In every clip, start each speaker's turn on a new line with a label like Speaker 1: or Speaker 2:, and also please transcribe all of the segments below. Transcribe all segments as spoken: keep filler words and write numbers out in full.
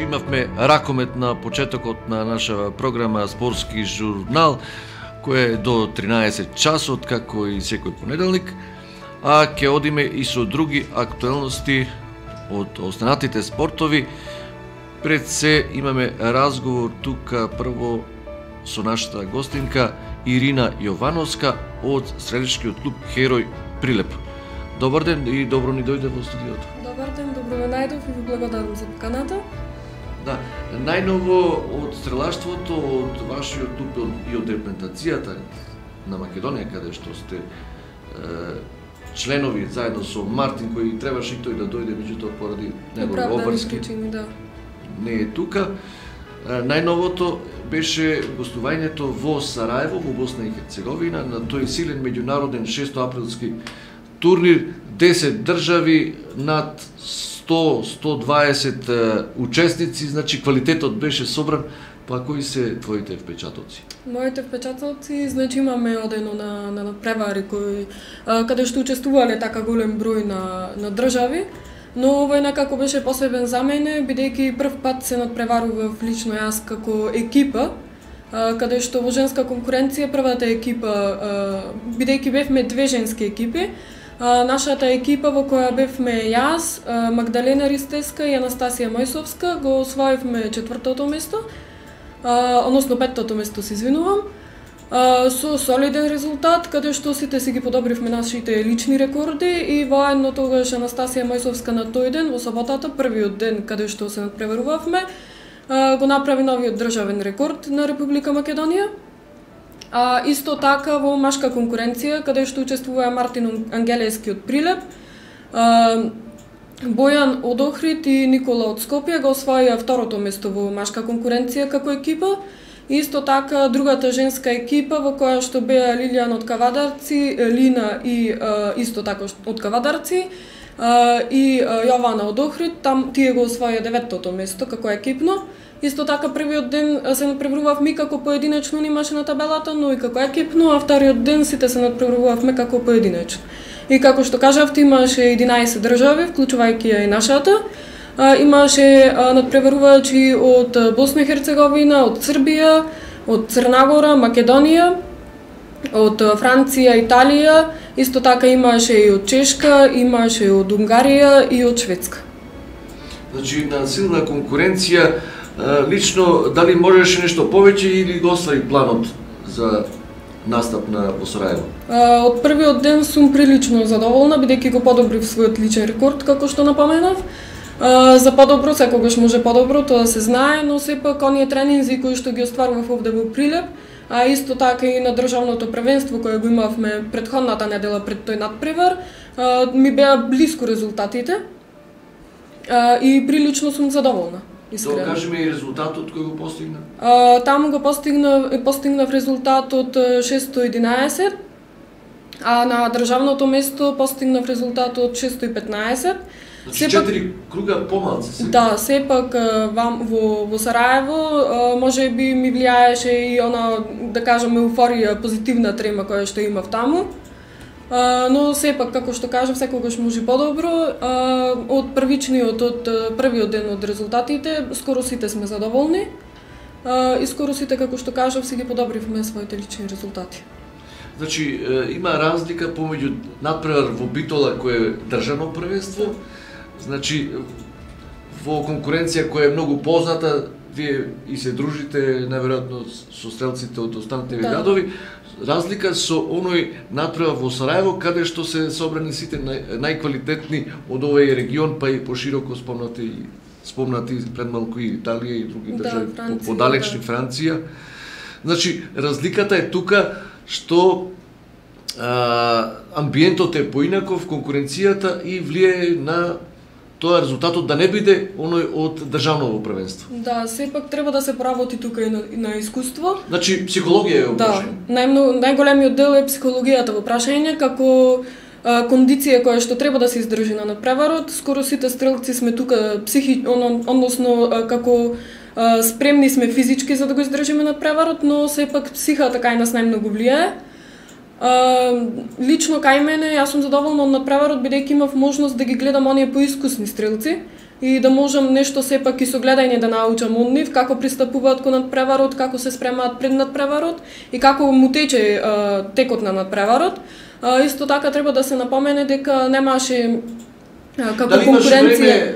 Speaker 1: имавме ракомет на почетокот на наша програма Спортски журнал, кој е до тринаесет часот, како и секој понеделник, а ќе одиме и со други актуелности од останатите спортови. Пред се имаме разговор тука прво со нашата гостинка Ирина Јовановска од стрелечкиот клуб Херој Прилеп. Добар ден и добро ни дојде во студиото.
Speaker 2: Добар ден, добро ме најдов и ви благодарам за поканата.
Speaker 1: Да, најново од стрелаштвото, од вашиот клуб и од репрезентацијата на Македонија, каде што сте е, членови заедно со Мартин, кој требаше и тој да дојде, меѓутоа поради негови обврски
Speaker 2: да.
Speaker 1: не е тука. Најновото беше гостувањето во Сараево, во Босна и Херцеговина, на тој силен меѓународен шестоаприлски турнир, десет држави, над сто до сто дваесет учесници, значи квалитетот беше собран. Па кои се твоите впечатоци?
Speaker 2: Моите впечатоци, значи имаме одено на, на превари кои, а, каде што учествувале така голем број на, на држави, но овој некако беше посебен за мене, бидејќи прв пат се надпреварував лично јас како екипа, а, каде што во женска конкуренција првата екипа, а, бидејќи бевме две женски екипи, а, нашата екипа во која бевме јас, а, Магдалена Ристеска и Анастасија Мојсовска, го освоивме четвртото место, а, односно петтото место, се извинувам, а, со солиден резултат, каде што сите си ги подобривме нашите лични рекорди и воедно тогаш Анастасија Мојсовска на тој ден, во саботата, првиот ден каде што се надпреварувавме, а, го направи новиот државен рекорд на Република Македонија. А, исто така во машка конкуренција, каде што учествува Мартин Ангелески од Прилеп, а, Бојан од Охрид и Никола од Скопје го освоија второто место во машка конкуренција како екипа. Исто така другата женска екипа во која што беа Лилијан од Кавадарци, Лина и а, исто така од Кавадарци а, и а, Јована од Охрид, там тие го освоија деветото место како екипно. Исто така првиот ден се надпреварувавме како поединечно нимаше на табелата, но и како екипно, а вториот ден сите се надпреварувавме како поединечно. И како што кажавте, имаше единаесет држави, вклучувајќи ја и нашата. А, имаше а, надпреварувачи од Босна и Херцеговина, од Србија, од Црна Гора, Македонија, од Франција, Италија, исто така имаше и од Чешка, имаше од Унгарија и од Шведска.
Speaker 1: Значи, на силна конкуренција, лично, дали можеше нешто повеќе или го оствари планот за настап на во Сараево?
Speaker 2: Од првиот ден сум прилично задоволна, бидејќи го подобрив својот личен рекорд, како што напоменав. За подобро, секогаш може подобро, тоа се знае, но сепак оние тренинзи кои што ги остварував овде во Прилеп, а исто така и на државното првенство кое го имавме претходната недела пред тој надпревар, ми беа блиску резултатите и прилично сум задоволна.
Speaker 1: Искрено. Да кажеме и резултатот кој го постигна?
Speaker 2: А, таму го постигнав, постигнав резултатот шестстотини и единаесет, а на државното место постигнав резултатот шестстотини и петнаесет.
Speaker 1: Значи четири круга помалку се.
Speaker 2: Да, сепак во во Сараево може би ми влијаеше и она, да кажеме, еуфорија, позитивна трема која што имав таму. Uh, но сепак, како што кажав, секогаш може подобро. Uh, од првичниот, од првиот ден од резултатите, скоро сите сме задоволни. Uh, и скоро сите, како што кажав, си ги подобривме своите лични резултати.
Speaker 1: Значи, има разлика помеѓу надпревар во Битола, кој е државно првенство, значи, во конкуренција која е многу позната, вие и се дружите, наверојатно, со стрелците од останатите да. градови, разлика со оној надпревар во Сараево, каде што се собрани сите нај, најквалитетни од овој регион, па и пошироко спомнати, спомнати пред малку и Италија и други
Speaker 2: да,
Speaker 1: држави,
Speaker 2: Франција,
Speaker 1: подалечни да. Франција. Значи, разликата е тука што а, амбиентот е поинаков, конкуренцијата и влијае на тоа резултатот да не биде оној од државното првенство.
Speaker 2: Да, сепак треба да се поработи тука и на, на искуство.
Speaker 1: Значи, психологија е
Speaker 2: да, најмногу, најголемиот дел е психологијата во прашање, како а, кондиција која што треба да се издржи на надпреварот. Скоро сите стрелци сме тука психи, он, односно а, како а, спремни сме физички за да го издржиме надпреварот, но сепак психата кај нас најмногу влијае. Uh, лично кај мене, јас сум задоволна од надпреварот, бидејќи имав можност да ги гледам оние поискусни стрелци, и да можам нешто сепак и со гледање да научам од нив, како пристапуваат кон надпреварот, како се спремаат пред надпреварот и како му тече а, текот на надпреварот. А, исто така треба да се напомене дека немаше а, како
Speaker 1: дали
Speaker 2: конкуренција.
Speaker 1: Време,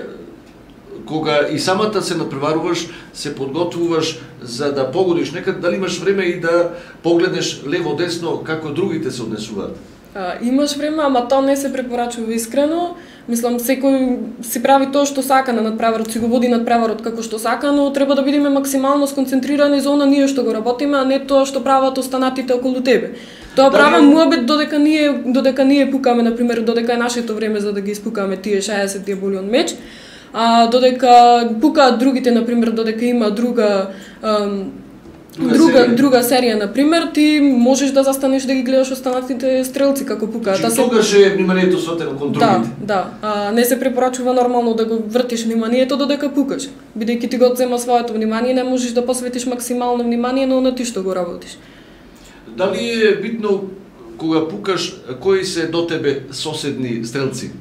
Speaker 1: кога и самата се надпреваруваш, се подготвуваш за да погодиш некад, дали имаш време и да погледнеш лево-десно како другите се однесуваат?
Speaker 2: А, имаш време, ама тоа не се препорачува искрено. Мислам, секој си прави тоа што сака на надпреварот, си го води надпреварот како што сака, но треба да бидеме максимално сконцентрирани за она ние што го работиме, а не тоа што прават останатите околу тебе. Тоа правам муабет додека ние додека ние пукаме, на пример, додека е нашето време за да ги испукаме тие шеесет боли од меч. А додека пукаат другите, на пример, додека има друга ам, Друга, друга серија. друга серија, на пример, ти можеш да застанеш да ги гледаш останатите стрелци како пукаат.
Speaker 1: Значи, тогаш е вниманието сватено кон другите.
Speaker 2: Да, да. А, не се препорачува нормално да го вртиш вниманието додека пукаш. Бидејќи ти го зема своето внимание, не можеш да посветиш максимално внимание на она ти што го работиш.
Speaker 1: Дали е битно кога пукаш кои се до тебе соседни стрелци?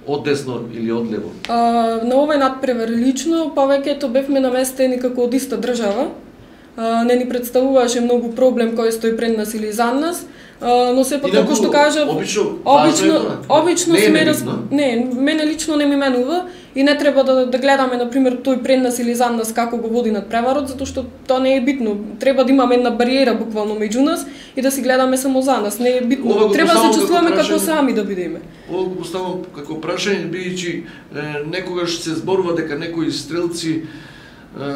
Speaker 1: Од десно или од лево?
Speaker 2: А, на овој надпревар лично повеќето бевме наместени како од иста држава. Uh, не ни представуваше многу проблем кој стои пред нас или зад нас, uh, но сепак како што кажав,
Speaker 1: обично
Speaker 2: обично, обично
Speaker 1: не
Speaker 2: сме раз...
Speaker 1: битно.
Speaker 2: Не, мене лично не ми менува и не треба да, да гледаме на пример тој пред нас или зад нас како го води надпреварот, затоа што тоа не е битно. Треба да имаме една бариера буквално меѓу нас и да си гледаме само за нас. Не е битно. Треба да се чувствуваме како сами да бидеме.
Speaker 1: Ова го поставам како прашање, бидејќи некогаш се зборува дека некои стрелци е,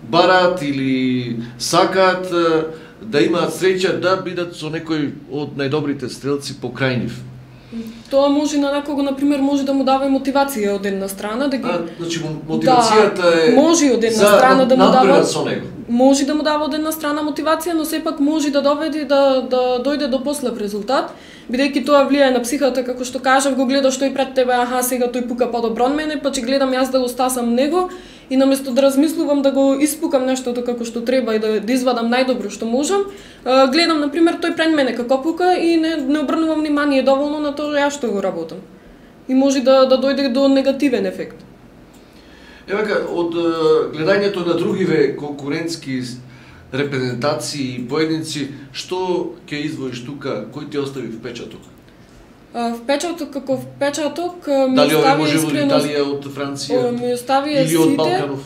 Speaker 1: бараат или сакаат да имаат среќа да бидат со некој од најдобрите стрелци покрај нив.
Speaker 2: Тоа може на некого, на пример, може да му дава и мотивација од една страна, да ги
Speaker 1: А, значи мотивацијата
Speaker 2: да,
Speaker 1: е
Speaker 2: може од една
Speaker 1: за
Speaker 2: страна да му дава
Speaker 1: со него.
Speaker 2: Може да му дава од една страна мотивација, но сепак може да доведе да да дојде до послаб резултат, бидејќи тоа влијае на психата, како што кажав, го гледаш тој пред тебе, аха, сега тој пука подобро од мене, па ќе гледам јас да го стасам него и наместо да размислувам да го испукам нештото како што треба и да, да извадам најдобро што можам, гледам на пример тој пред мене како пука и не не обрнувам внимание доволно на тоа јас што го работам. И може да да дојде до негативен ефект.
Speaker 1: Евака, од гледањето на другиве конкурентски репрезентации и поединци, што ќе издвоиш тука, кој ти остави впечаток?
Speaker 2: Впечаток како впечаток ми
Speaker 1: Дали овој
Speaker 2: остави
Speaker 1: може од
Speaker 2: искрено
Speaker 1: Италија, од Франција?
Speaker 2: Ми остави
Speaker 1: или од
Speaker 2: сите,
Speaker 1: Балканов?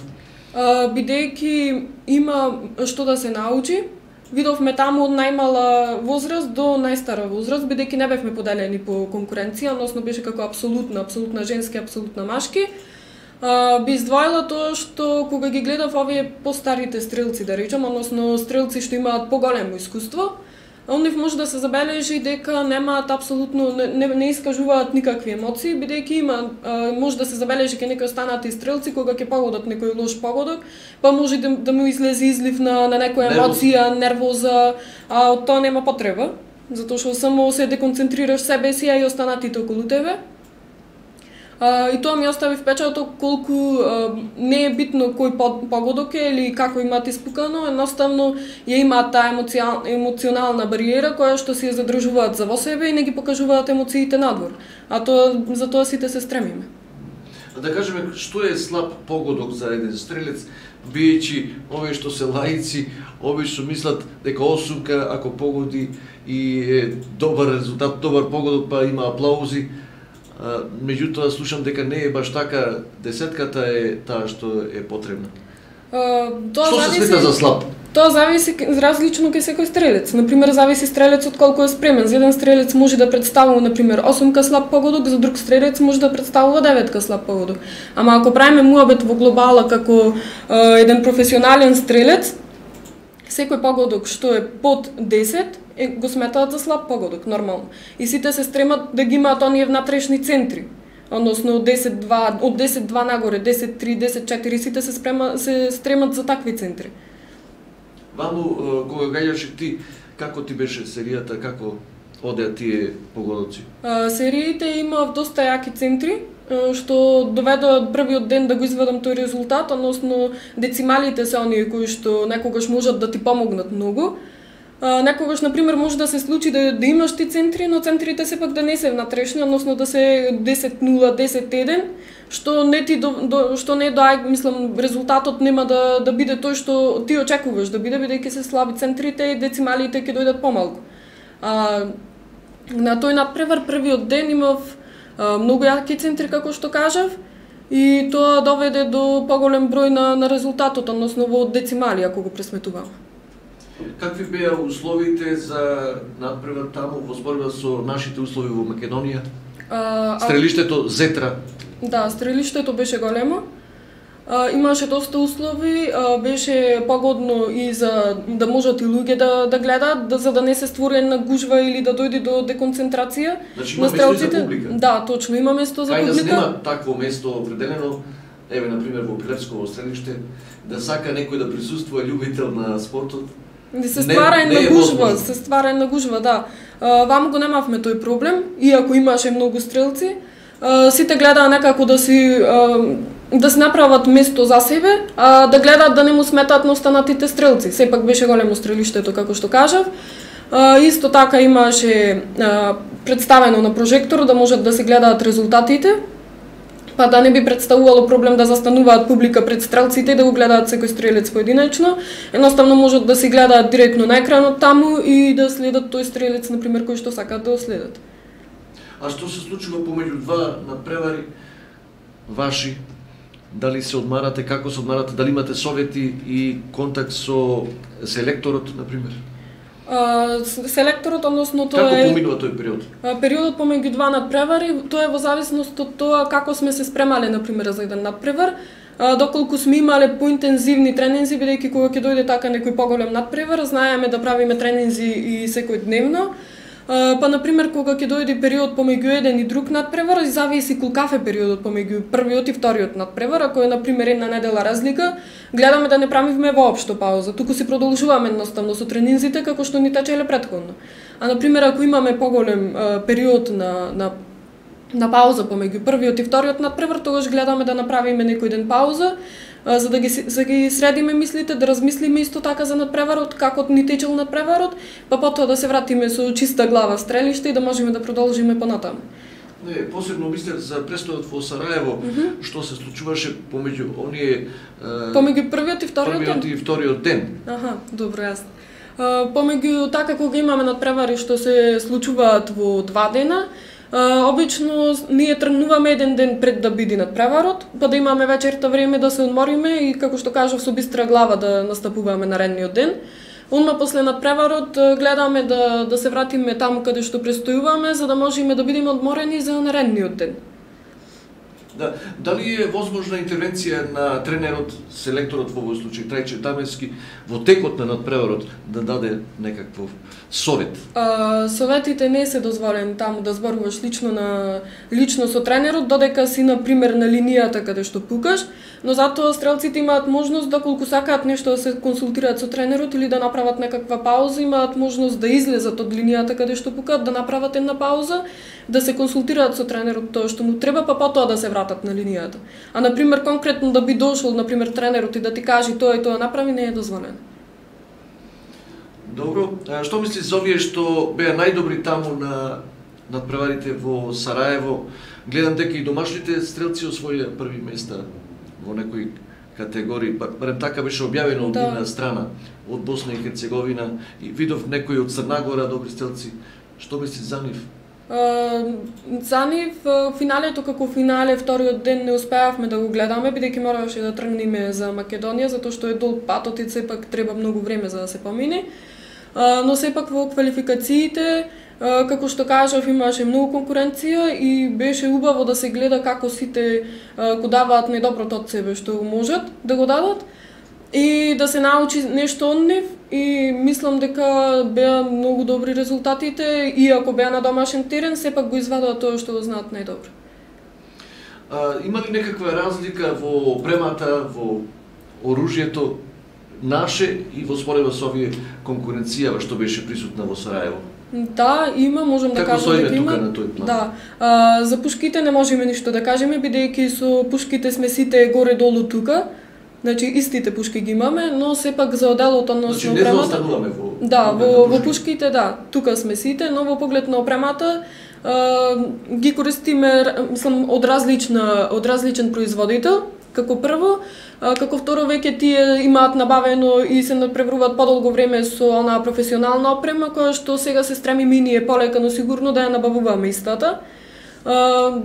Speaker 2: бидејќи има што да се научи. Видовме таму од најмала возраст до најстара возраст, бидејќи не бевме поделени по конкуренција, односно беше како апсолутна, апсолутна женски, апсолутна машки. Uh, би издвоила тоа што кога ги гледав овие постарите стрелци, да речам, односно стрелци што имаат поголемо искуство, од нив може да се забележи дека немаат апсолутно, не, не искажуваат никакви емоции, бидејќи има, uh, може да се забележи ке некои останати стрелци кога ќе погодат некој лош погодок, па може да, да му излезе излив на, на некоја емоција, нервоза, а од тоа нема потреба, затоа што само се деконцентрираш себе си, а и останатите околу тебе. Uh, и тоа ми остави впечаток колку uh, не е битно кој погодок е или како имаат испукано, едноставно ја имаат таа емоцијал, емоционална бариера која што си ја задржуваат за во себе и не ги покажуваат емоциите надвор. А тоа за тоа сите се стремиме.
Speaker 1: Да кажеме, што е слаб погодок за еден стрелец, биејќи овие што се лаици, обично мислат дека осумка ако погоди и е добар резултат, добар погодок, па има аплаузи. Uh, меѓутоа слушам дека не е баш така, десетката е таа што е потребна.
Speaker 2: Uh, тоа
Speaker 1: што
Speaker 2: зависи,
Speaker 1: се смета за слаб?
Speaker 2: Тоа зависи различно кај секој стрелец. Например, зависи стрелецот колку е спремен. За еден стрелец може да представува, например, осумка слаб погодок, за друг стрелец може да представува деветка слаб погодок. Ама ако правиме муабет во глобала како uh, еден професионален стрелец, секој погодок што е под десет, е, го сметаат за слаб погодок, нормално. И сите се стремат да ги имаат оние внатрешни центри. Односно од десет два, од десет два нагоре, десет три, десет четири, сите се спрема, се стремат за такви центри.
Speaker 1: Вану, кога гаѓаше ти, како ти беше серијата, како одеа тие погодоци?
Speaker 2: А, сериите имав доста јаки центри, што доведоа првиот ден да го извадам тој резултат, односно децималите се оние кои што некогаш можат да ти помогнат многу. некогаш, например, може да се случи да, да имаш ти центри, но центрите сепак да не се внатрешни, односно да се десет нула, десет еден, што не ти до, до што не дај, мислам, резултатот нема да да биде тој што ти очекуваш да биде, бидејќи се слаби центрите и децималите ќе дојдат помалку. А, на тој надпревар првиот ден имав а, многу јаки центри, како што кажав, и тоа доведе до поголем број на, на резултатот, односно во децимали, ако го пресметувам.
Speaker 1: Какви беа условите за надпревар таму во споредба со нашите услови во Македонија? А, Стрелиштето Зетра.
Speaker 2: Да, стрелиштето беше големо. А, имаше доста услови, а, беше погодно и за да можат и луѓе да да гледаат, да, за да не се створи една гужва или да дојде до деконцентрација.
Speaker 1: Значи има место за публика.
Speaker 2: Да, точно, има место за
Speaker 1: Кај
Speaker 2: публика.
Speaker 1: Кај да се нема такво место определено, еве на пример во Пилевсково стрелиште, да сака некој да присуствува љубител на спортот.
Speaker 2: Да се ствара една гужва, се ствара една гужва, да. А, ваму го немавме тој проблем, иако имаше многу стрелци. А, сите гледаа некако да си а, да се направат место за себе, а да гледаат да не му сметаат на останатите стрелци. Сепак беше големо стрелиштето, како што кажав. А, исто така имаше а, представено на прожектор да можат да се гледаат резултатите, па да не би представувало проблем да застануваат публика пред стрелците и да го гледаат секој стрелец поединечно. Едноставно можат да си гледаат директно на екранот таму и да следат тој стрелец, например, кој што сакаат да го следат.
Speaker 1: А што се случува помеѓу два надпревари ваши? Дали се одмарате, како се одмарате, дали имате совети и контакт со селекторот, например?
Speaker 2: А, селекторот, односно тоа
Speaker 1: како
Speaker 2: е...
Speaker 1: Како поминува тој период?
Speaker 2: А, периодот помеѓу два надпревари, тоа е во зависност од тоа како сме се спремале, например, за еден надпревар. А, доколку сме имале поинтензивни тренинзи, бидејќи кога ќе дојде така некој поголем надпревар, знаеме да правиме тренинзи и секој дневно. Uh, па, например, кога ќе дојде период помеѓу еден и друг надпревар, зависи колкав е периодот помеѓу првиот и вториот надпревар. Ако е, например, една недела разлика, гледаме да не правиме воопшто пауза, туку си продолжуваме едноставно со тренинзите како што ни течеле претходно. А, например, ако имаме поголем uh, период на, на, на пауза помеѓу првиот и вториот надпревар, тогаш гледаме да направиме некој ден пауза, за да ги, за ги средиме мислите, да размислиме исто така за надпреварот, како ни течел надпреварот, па потоа да се вратиме со чиста глава стрелиште и да можеме да продолжиме понатаму.
Speaker 1: Не, посебно мислев за престојот во Сараево, mm -hmm. што се случуваше помеѓу оние
Speaker 2: помеѓу првиот и вториот
Speaker 1: првиот
Speaker 2: ден.
Speaker 1: и вториот ден.
Speaker 2: Аха, добро, јасно. Помеѓу така кога имаме надпревари што се случуваат во два дена, Uh, обично ние тргнуваме еден ден пред да биде надпреварот, па да имаме вечерта време да се одмориме и, како што кажав, со бистра глава да настапуваме наредниот ден. Онма после надпреварот гледаме да, да се вратиме таму каде што престојуваме, за да можеме да бидеме одморени за наредниот ден.
Speaker 1: Да, дали е возможна интервенција на тренерот, селекторот во овој случај, Трајче Тамевски, во текот на надпреварот да даде некаков совет?
Speaker 2: А, советите не се дозволени таму да зборуваш лично на лично со тренерот, додека си на пример на линијата каде што пукаш, но затоа стрелците имаат можност доколку сакаат нешто да се консултираат со тренерот или да направат некаква пауза, имаат можност да излезат од линијата каде што пукаат, да направат една пауза, да се консултираат со тренерот тоа што му треба, па потоа да се вратат на линијата. А на пример конкретно да би дошол на пример тренерот и да ти каже тоа и тоа направи, не е дозволено.
Speaker 1: Добро, а што мислиш за овие што беа најдобри таму на надпреварите во Сараево? Гледам дека и домашните стрелци освоија први места во некои категории, барем така беше објавено од
Speaker 2: да.
Speaker 1: нивна страна, од Босна и Херцеговина, и видов некои од Црнагора добри стрелци. Што мислиш за нив?
Speaker 2: Uh, за нив, финалето како финале, вториот ден не успеавме да го гледаме, бидејќи мораше да тргнеме за Македонија, затоа што е долг патот и сепак треба многу време за да се помине. Uh, но сепак во квалификациите, uh, како што кажав, имаше многу конкуренција и беше убаво да се гледа како сите uh, го даваат најдоброто од себе што можат да го дадат и да се научи нешто од нив, и мислам дека беа многу добри резултатите, и ако беа на домашен терен, сепак го извадаа тоа што го знаат најдобро.
Speaker 1: А, има ли некаква разлика во опремата, во оружјето наше и во споредба со овие конкуренцијава што беше присутна во Сараево?
Speaker 2: Да, има, можам да кажам дека има.
Speaker 1: На тој план?
Speaker 2: Да. А, за пушките не можеме ништо да кажеме, бидејќи со пушките сме сите горе-долу тука. Значи истите пушки ги имаме, но сепак за оделот односно
Speaker 1: значи, не заостануваме во
Speaker 2: Да, во, во пушките, да, тука сме сите, но во поглед на опремата а, ги користиме, мислам, од различна, од различен производител, како прво, а, како второ веќе тие имаат набавено и се надпреваруваат подолго време со онаа професионална опрема, која што сега се стремиме и ние полека, но сигурно да ја набавуваме истата. А,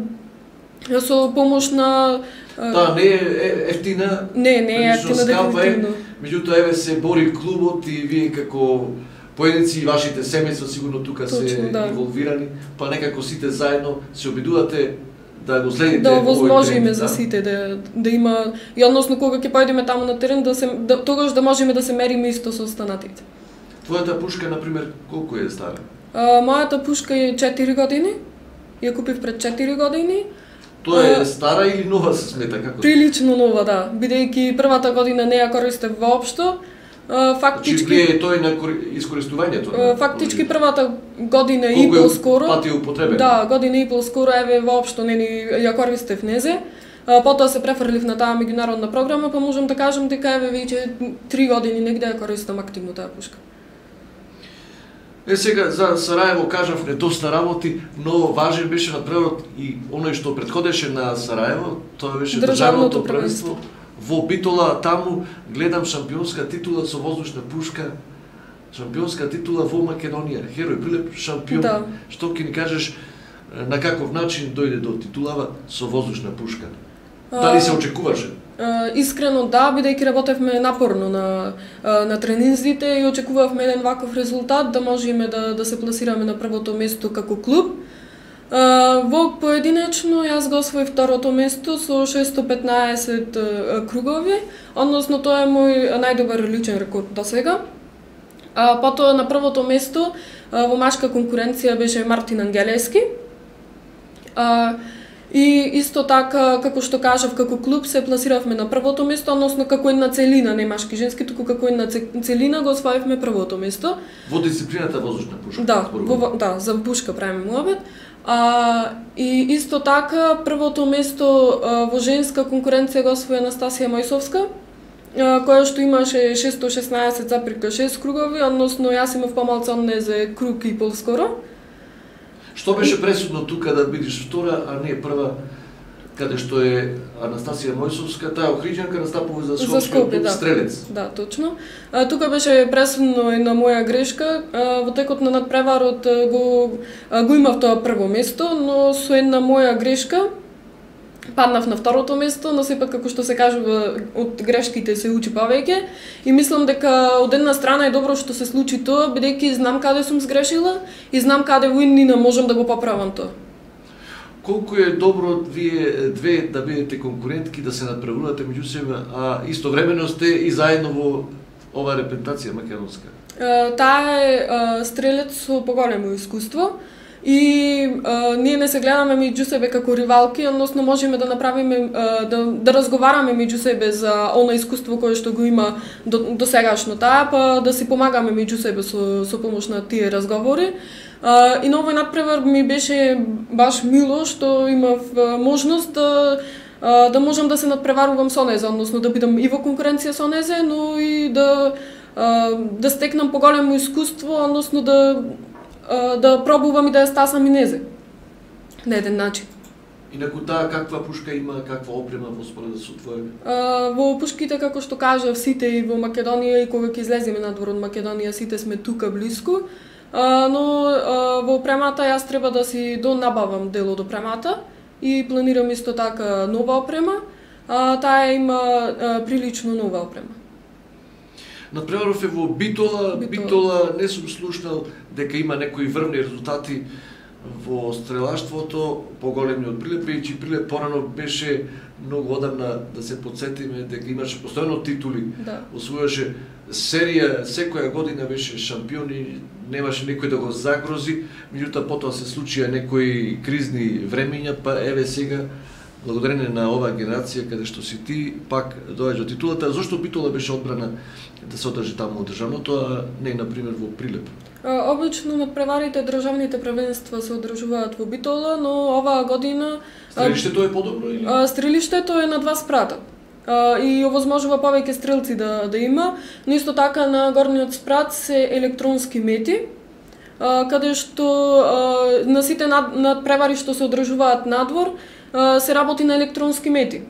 Speaker 2: со помош на...
Speaker 1: Да, не е ефтина.
Speaker 2: Не, не е ефтина, дефинитивно.
Speaker 1: Меѓутоа, еве се бори клубот и вие како поединци и вашите семејства сигурно тука
Speaker 2: Точно,
Speaker 1: се
Speaker 2: да.
Speaker 1: инволвирани, па некако сите заедно се обидувате да го следите.
Speaker 2: Да овозможиме
Speaker 1: овој
Speaker 2: за
Speaker 1: тренд,
Speaker 2: сите да да има и односно кога ќе појдеме таму на терен да се да, тогаш да можеме да се мериме исто со останатите.
Speaker 1: Твојата пушка на пример колку е стара?
Speaker 2: А, мојата пушка е четири години. Ја купив пред четири години.
Speaker 1: Тоа е
Speaker 2: А,
Speaker 1: стара или нова се смета како?
Speaker 2: Прилично нова, да, бидејќи првата година не ја користев воопшто. А,
Speaker 1: Значи
Speaker 2: фактички
Speaker 1: влие тој на кори- искористувањето.
Speaker 2: а, фактички првата година и
Speaker 1: колку е
Speaker 2: пол скоро.
Speaker 1: пати употребен?
Speaker 2: Да, година и пол скоро еве воопшто не ни ја користев незе. А, потоа се префрлив на таа меѓународна програма, па можам да кажам дека еве веќе три години негде ја користам активно таа пушка.
Speaker 1: Е, сега за Сараево кажавме доста работи, но важен беше надпреварот и оној што претходеше на Сараево, тоа беше
Speaker 2: Државното
Speaker 1: државното првенство. Во Битола таму гледам шампионска титула со воздушна пушка, шампионска титула во Македонија. Херој Прилеп шампион.
Speaker 2: Да.
Speaker 1: Што ќе ни кажеш на каков начин дојде до титулава со воздушна пушка? Дали се очекуваше?
Speaker 2: Uh, искрено да, бидејќи работевме напорно на uh, на тренинзите и очекувавме еден ваков резултат да можеме да да се пласираме на првото место како клуб. Uh, во поединечно јас го освоив второто место со шестоста петнаесет uh, кругови, односно тоа е мој најдобар личен рекорд досега. Uh, потоа на првото место uh, во машка конкуренција беше Мартин Ангелески. Uh, И исто така, како што кажав, како клуб се пласиравме на првото место, односно како една целина, не машки женски, туку како една целина го освоивме првото место.
Speaker 1: Во дисциплината воздушна пушка?
Speaker 2: Да, во, да, за пушка правиме муабет. А, и исто така, првото место а, во женска конкуренција го освои Анастасија Мојсовска, а, која што имаше шестоста шеснаесет запирка шест кругови, односно јас имав помалку од неа за круг и пол скоро.
Speaker 1: Што беше пресудно тука да бидеш втора, а не прва, каде што е Анастасија Мојсовска, таа охриđанка настапува за Скопје,
Speaker 2: да.
Speaker 1: стрелец.
Speaker 2: Да, точно. А, тука беше пресудно една моја грешка. А, во текот на надпреварот го а, го имав тоа прво место, но со една моја грешка паднав на второто место, но сепак како што се кажува од грешките се учи повеќе и мислам дека од една страна е добро што се случи тоа, бидејќи знам каде сум сгрешила и знам каде во иднина можам да го поправам тоа.
Speaker 1: Колку е добро вие две да бидете конкурентки, да се надпреварувате меѓу себе, а истовремено сте и заедно во оваа репрезентација македонска?
Speaker 2: А, таа е а, стрелец со поголемо искуство. И а, ние не се гледаме меѓу себе како ривалки, односно можеме да направиме а, да да разговараме меѓу себе за она искуство кое што го има до, до сегашно таа, па да си помагаме меѓу себе со со помош на тие разговори. А, и на овој надпревар ми беше баш мило што имав а, можност да а, да можам да се надпреварувам со незе, односно да бидам и во конкуренција со незе, но и да а, да стекнам поголемо искуство, односно да да пробувам и да ја стасам и незе на еден начин.
Speaker 1: Инаку таа каква пушка има, каква опрема во споредба со твоја?
Speaker 2: А, во пушките, како што кажав, сите и во Македонија и кога ќе излеземе надвор од Македонија, сите сме тука блиску, а, но а, во опремата јас треба да си донабавам дел од опремата и планирам исто така нова опрема, а, таа има а, прилично нова опрема.
Speaker 1: Надпреваров е во Битола, Битола, Битола не сум слушнал дека има некои врвни резултати во стрелаштвото, поголеми од Прилеп, бидејќи Прилеп порано беше многу одамна, да се подсетиме, дека имаше постојано титули,
Speaker 2: Да.
Speaker 1: освојаше серија, секоја година беше шампион и немаше некој да го загрози, меѓутоа потоа се случија некои кризни времења, па еве сега благодарение на оваа генерација каде што си ти, пак доаѓа титулата. Зошто Битола беше одбрана да се одржи таму од државното, а не например во Прилеп?
Speaker 2: А, обично надпреварите државните првенства се одржуваат во Битола, но оваа година
Speaker 1: Стрелиштето е подобро или?
Speaker 2: А, стрелиштето е на два спрата. и овозможува повеќе стрелци да да има, но исто така на горниот спрат се електронски мети, каде што на сите над, надпревари што се одржуваат надвор се работи на електронски мети.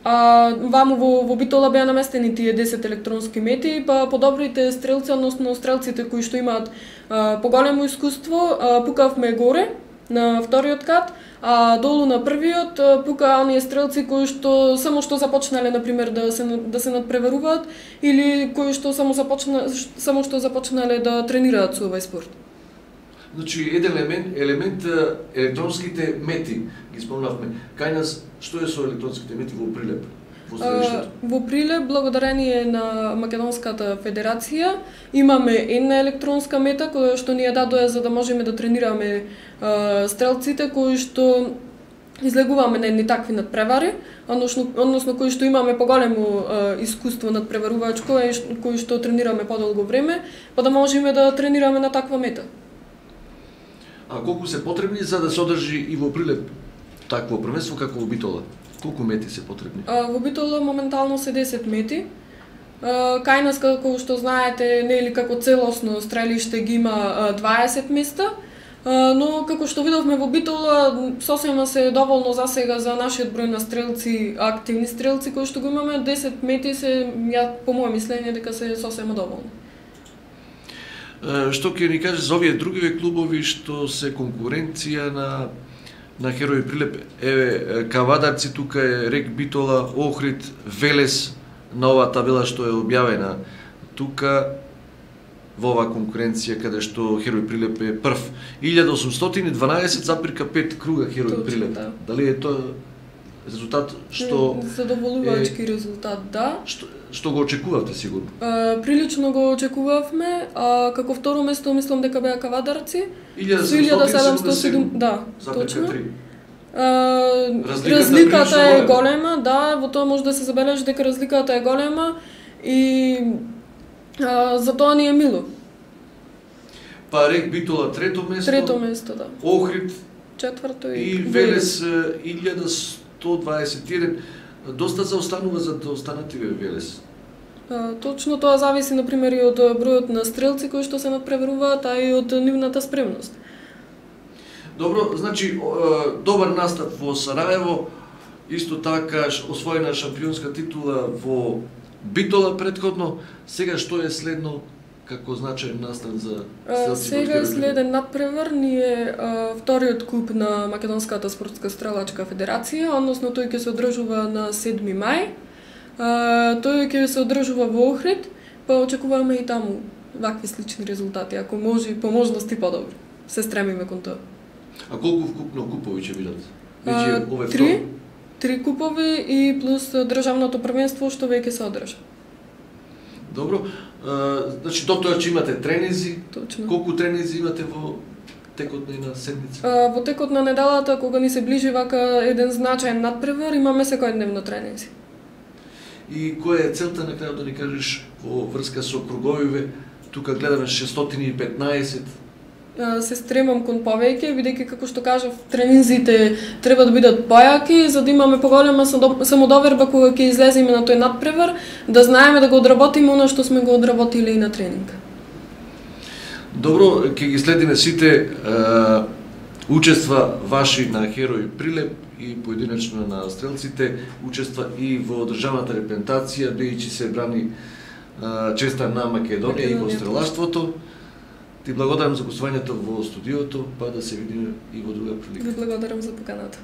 Speaker 2: А ваму во, во Битола беа наместени тие десет електронски мети, па подобрите стрелци, односно стрелците кои што имаат а, поголемо искуство, а, пукавме горе на вториот кат, а долу на првиот а, пука оние стрелци кои што само што започнале на пример да се да се надпреваруваат или кои што само започна само што започнале да тренираат со овој спорт.
Speaker 1: Значи, еден елемент, елемент електронските мети, ги спомнавме. Кај нас, што е со електронските мети во Прилеп? Во средиштето?
Speaker 2: Во Прилеп, благодарение на Македонската федерација, имаме една електронска мета која што ни ја дадоа за да можеме да тренираме а, стрелците кои што излегуваме на едни такви надпревари, односно, односно кои што имаме поголемо а, искуство надпреварувачко и кои што тренираме подолго време, па да можеме да тренираме на таква мета.
Speaker 1: А колку се потребни за да се одржи и во Прилеп такво првенство како во Битола? Колку мети се потребни?
Speaker 2: А, во Битола моментално се десет мети. А, кај нас, како што знаете, нели како целосно стрелиште ги има дваесет места, а, но како што видовме во Битола, сосема се доволно за сега за нашиот број на стрелци, активни стрелци кои што го имаме, десет мети се, ја, по моје мислење, дека се сосема доволно.
Speaker 1: Што ќе ни каже за овие другиве клубови што се конкуренција на на Херои Прилеп? Еве Кавадарци, тука е Рек Битола, Охрид, Велес на оваа табела што е објавена тука во оваа конкуренција каде што Херои Прилеп е прв. илјада осумстотини и дванаесет запирка пет круга Херои
Speaker 2: Точно,
Speaker 1: Прилеп.
Speaker 2: да.
Speaker 1: Дали е тоа резултат што
Speaker 2: задоволувачки е... резултат, да.
Speaker 1: Што, што го очекувавте сигурно?
Speaker 2: А, прилично го очекувавме, а како второ место мислам дека беа Кавадарци.
Speaker 1: илјада седумстотини и седумдесет и седум,
Speaker 2: да,
Speaker 1: точно.
Speaker 2: А,
Speaker 1: разликата,
Speaker 2: разликата е
Speaker 1: голема.
Speaker 2: голема, да, во тоа може да се забележи дека разликата е голема и а, за тоа ни е мило.
Speaker 1: Па Рек Битола трето место.
Speaker 2: Трето место, да.
Speaker 1: Охрид
Speaker 2: Четврто и,
Speaker 1: и Велес илјада сто дваесет и еден. Доста заостанува за да останат и Велес.
Speaker 2: А, точно тоа зависи на пример и од бројот на стрелци кои што се надпреваруваат, а и од нивната спремност.
Speaker 1: Добро, значи добар настап во Сараево, исто така освоена шампионска титула во Битола претходно. Сега што е следно како значаен настан за стрелци?
Speaker 2: Сега е следен надпревар, ни е а, вториот куп на Македонската спортска стрелачка федерација, односно тој ќе се одржува на седми мај. А, тој ќе се одржува во Охрид, па очекуваме и таму вакви слични резултати, ако може и по можности подобри. Се стремиме кон тоа.
Speaker 1: А колку вкупно купови ќе бидат?
Speaker 2: А,
Speaker 1: ове
Speaker 2: три, три купови и плюс државното првенство што веќе се одржа.
Speaker 1: Добро, а, значи до тоа ќе имате тренинзи.
Speaker 2: Точно.
Speaker 1: Колку тренинзи имате во текот на една седмица?
Speaker 2: А, во текот на неделата, кога ни се ближи вака еден значаен надпревар, имаме секојдневно тренинзи.
Speaker 1: И која е целта на крајот да ни кажеш во врска со круговиве? Тука гледаме шестстотини и петнаесет.
Speaker 2: Се стремам кон повеќе, бидејќи како што кажав, тренинзите треба да бидат појаки, за да имаме поголема самодоверба кога ќе излеземе на тој надпревар, да знаеме да го одработиме она што сме го одработиле и на тренинг.
Speaker 1: Добро, ќе ги следиме сите е, учества ваши на Херои Прилеп и поединечно на стрелците, учества и во државната репрезентација, бидејќи се брани е, честа на Македонија и во стрелаштвото. Ти благодарам за гостувањето во студиото, па да се видиме и во друга прилика.
Speaker 2: Ви благодарам за поканата.